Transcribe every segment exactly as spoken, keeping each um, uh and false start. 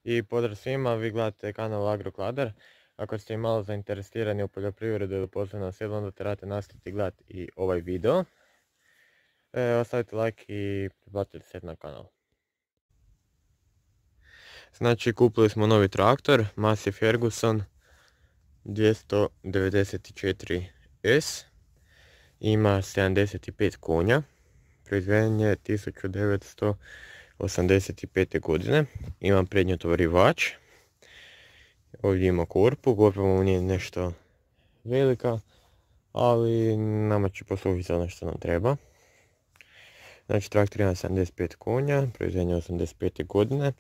I pozdrav svima, vi gledate kanal Agrokladar. Ako ste malo zainteresirani u poljoprivredu ili poslovnom selu, onda trebate nastaviti gledati i ovaj video. E, ostavite like i pretplatite se na kanal. Znači, kupili smo novi traktor, Massey Ferguson dvjesto devedeset četiri S. Ima sedamdeset pet konja. Proizveden je tisuću devetsto osamdeset pete. godine. Imam prednjotovarivač. Ovdje ima korpu, korpa mu nije nešto velika, ali nama će poslužiti ono što nam treba. Znači, traktor ima sedamdeset pet konja, proizveden je osamdeset pete. godine.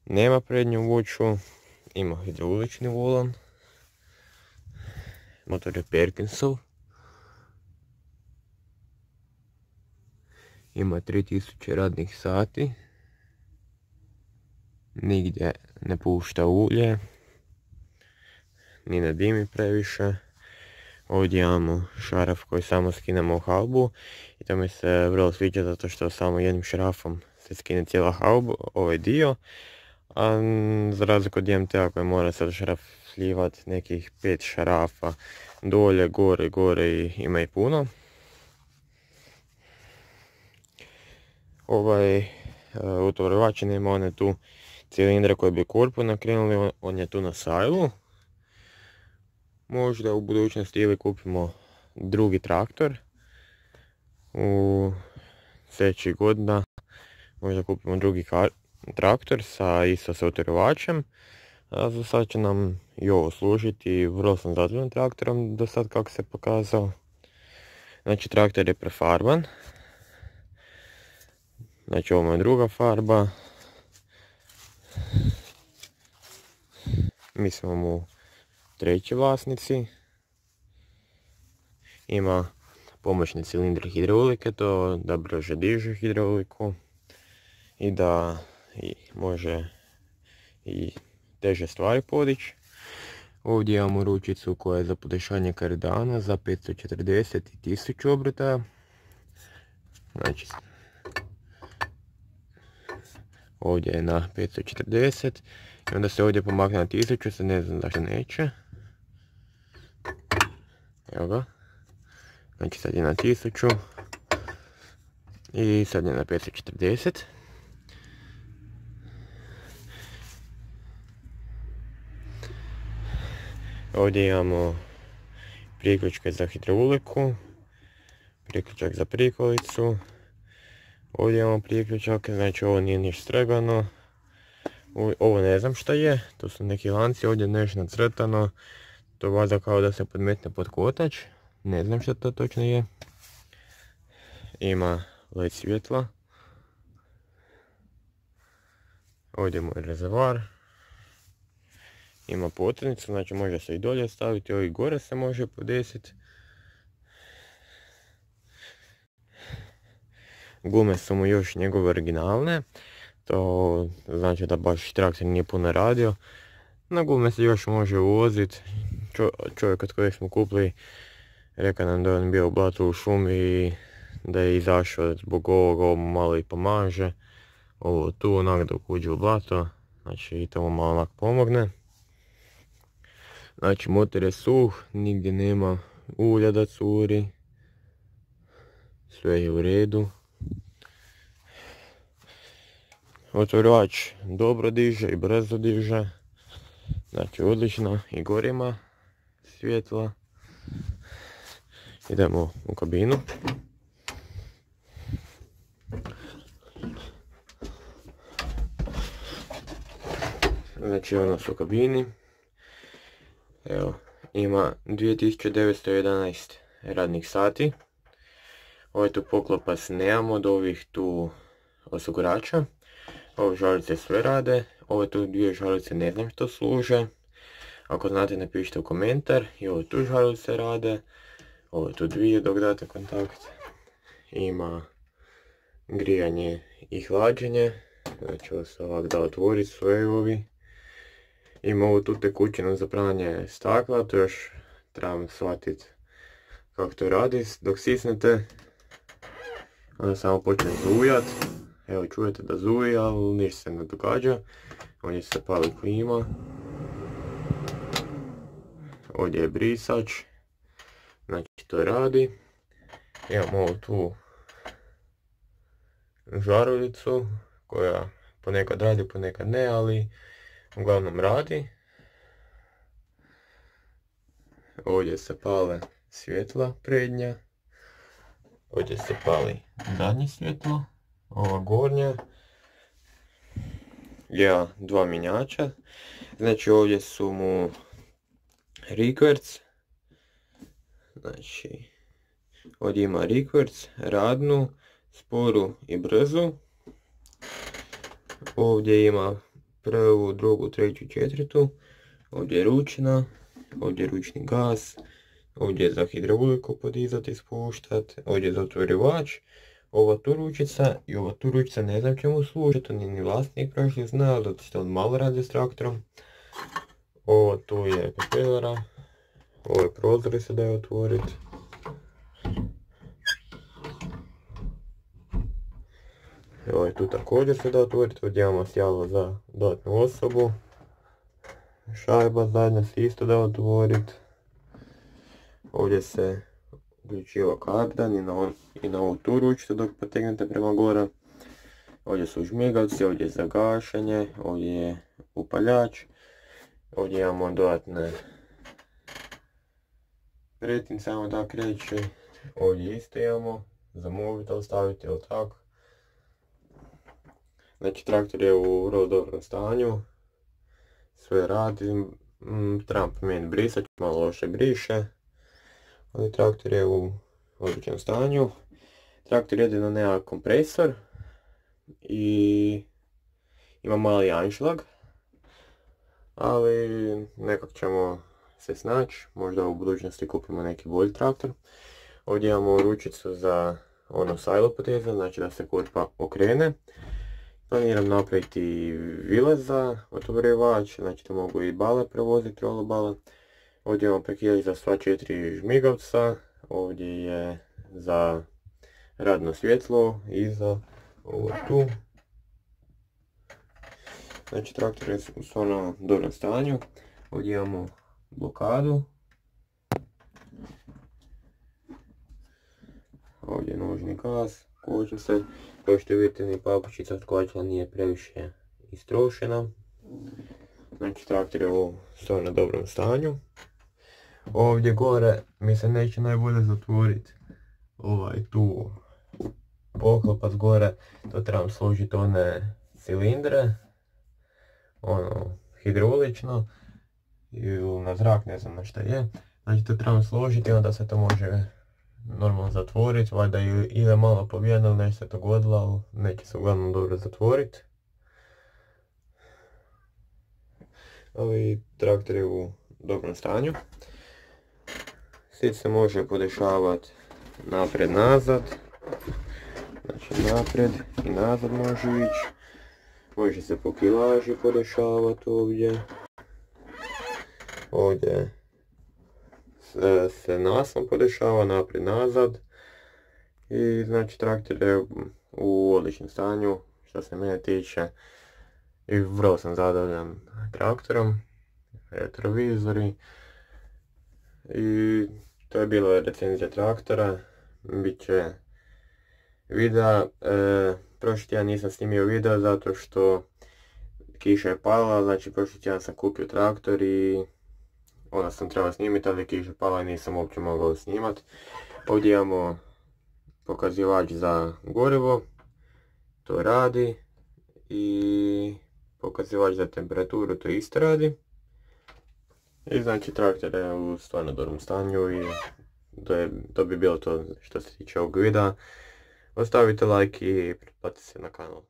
Nema prednju vuču, ima hidraulični volan. Motor je Perkinsov. Ima tri tisuće radnih sati. Nigdje ne pušta ulje. Ni ne dimi previše. Ovdje imamo šaraf koji samo skinemo u haubu. I to mi se vrlo sviđa zato što samo jednim šarafom se skine cijela hauba, ovaj dio. A za razliku od D M T-a koji mora sad šaraf slijevati nekih pet šarafa dolje, gore, gore i ima i puno. Ovaj utovarivač nema one tu cilindre koje bi korpu nakrenuli, on, on je tu na sajlu. Možda u budućnosti ili kupimo drugi traktor u sljedećih godina, možda kupimo drugi traktor sa isto sa utovarivačem. A za sad će nam i ovo služiti, vrlo sam zadovoljan traktorom do sad kako se pokazao. Znači, traktor je prefarban. Znači, ovo je druga farba. Mi smo mu treći vlasnici. Ima pomoćni cilindri hidraulike, to da brže diže hidrauliku i da i može i teže stvari podići. Ovdje imamo ručicu koja je za podešanje kardana za petsto četrdeset i tisuću obrtaja. Znači, ovdje je na petsto četrdeset i onda se ovdje pomakne na tisuću, sad ne znam zašto neće. Evo ga. Znači, sad je na tisuću i sad je na petsto četrdeset. Ovdje imamo priključke za hidrauliku, priključak za prikolicu. Ovdje imamo priključak, znači ovo nije ništa stregano. Ovo ne znam šta je, to su neki lanci, ovdje nešto nacrtano. To valjda kao da se podmetne pod kotač, ne znam šta to točno je. Ima led svjetla. Ovdje je moj rezervoar. Ima potrnicu, znači može se i dolje staviti, ovdje gore se može podesiti. Gume su mu još njegove originalne, to znači da baš traktor nije puno radio. Na gume se još može uvoziti. Čo, čovjek od kojeg smo kupili rekao nam da je on bio u blatu u šumi i da je izašao zbog ovoga, ovo malo i pomaže. Ovo tu onak dok uđe u blato, znači i to mu malo onak pomogne. Znači, motor je suh, nigdje nema ulja da curi. Sve je u redu. Otvorivač dobro diže i brzo diže. Znači, odlično. I gore ima svjetla. Idemo u kabinu. Znači, ono su u kabini. Evo, ima dvije tisuće devetsto jedanaest radnih sati. Ovaj tu poklopac nemamo od ovih tu osigurača. Ove žalice sve rade, ove tu dvije žalice ne znam što služe. Ako znate, napišite u komentar. I ove tu žalice rade, ove tu dvije dok date kontakt. Ima grijanje i hlađenje, znači ovo se ovak da otvoriti sve ovi. Ima ovu tu tekućinu za pranje stakla, to još trebam shvatiti kako to radi. Dok sisnete, onda samo počne zujat. Evo čujete da zuji, ali ništa se ne događa. Ovdje se pali klima. Ovdje je brisač. Znači to radi. Imamo ovu tu žaruljicu koja ponekad radi, ponekad ne, ali uglavnom radi. Ovdje se pale svjetla prednja. Ovdje se pali zadnje svjetlo. Ova gornja. Ja, dva mjenjača. Znači ovdje su mu rikverc. Znači ovdje ima rikverc, radnu, sporu i brzu. Ovdje ima prvu, drugu, treću, četvrtu. Ovdje je ručna. Ovdje je ručni gas. Ovdje je za hidrauliku podizati i spuštati. Ovdje je zatvorivač. Ova tu ručica i ova tu ručica ne znam čemu služi, to nije ni vlasnik prošli znao, zato što on malo radi s traktorom. Ovo tu je propelera. Ove prozore se daje otvoriti. Ovo je tu također se da otvoriti, ovdje imamo sjalo za dodatnu osobu. Šajba zadnja se isto da otvoriti. Ovdje se uključiva kardan i na, on, i na ovu tu ručicu dok potegnete prema gore. Ovdje su žmigavci, ovdje je za gašenje, ovdje je upaljač. Ovdje imamo dodatne pretince, samo tako reći. Ovdje isto imamo za mobitel staviti ili tako. Znači traktor je u vrlo dobrom stanju. Sve radi. Mm, trebam promijeniti brisač, malo loše briše. Ali traktor je u odličnom stanju. Traktor jedino nema kompresor. I ima mali anšlag. Ali nekak ćemo se snaći. Možda u budućnosti kupimo neki bolji traktor. Ovdje imamo ručicu za ono sajlo poteza, znači da se korpa okrene. Planiram napraviti vilez za otvorivač, znači da mogu i bale prevoziti, rolobale. Ovdje imamo prekidalić za sva četiri žmigavca. Ovdje je za radno svjetlo i za ovo tu. Znači traktor je u stvarno dobrom stanju. Ovdje imamo blokadu. Ovdje je nožni gas, kočnice. Kao što vidite ni papučica od kočila nije previše istrošena. Znači traktor je u stvarno dobrom stanju. Ovdje gore mi se neće najbolje zatvoriti ovaj tu poklopac gore, to trebam složiti one cilindre, ono hidraulično ili na zrak, ne znam na šta je. Znači to trebam složiti i onda se to može normalno zatvoriti, valjda ili malo pobijeno ili nešto se to godilo, ali neće se uglavnom dobro zatvoriti. Ali traktor je u dobrom stanju. Sit se može podešavati naprijed nazad, znači naprijed i nazad može ići. Može se po kilaži podešavati ovdje. Ovdje se, se naslon podešava naprijed nazad. I znači traktor je u odličnom stanju što se mene tiče. I vrlo sam zadovoljan traktorom. Retrovizori. I to je bila recenzija traktora. Biće videa. E, prošli tjedan nisam snimio video zato što kiša je pala, znači prošli tjedan sam kupio traktor i onda sam trebao snimiti, ali kiša je pala i nisam uopće mogao snimati. Ovdje imamo pokazivač za gorivo, to radi, i pokazivač za temperaturu, to isto radi. I znači traktor je u stvarno dobrom stanju i to, je, to bi bilo to što se tiče ovog videa. Ostavite like i pretplatite se na kanal.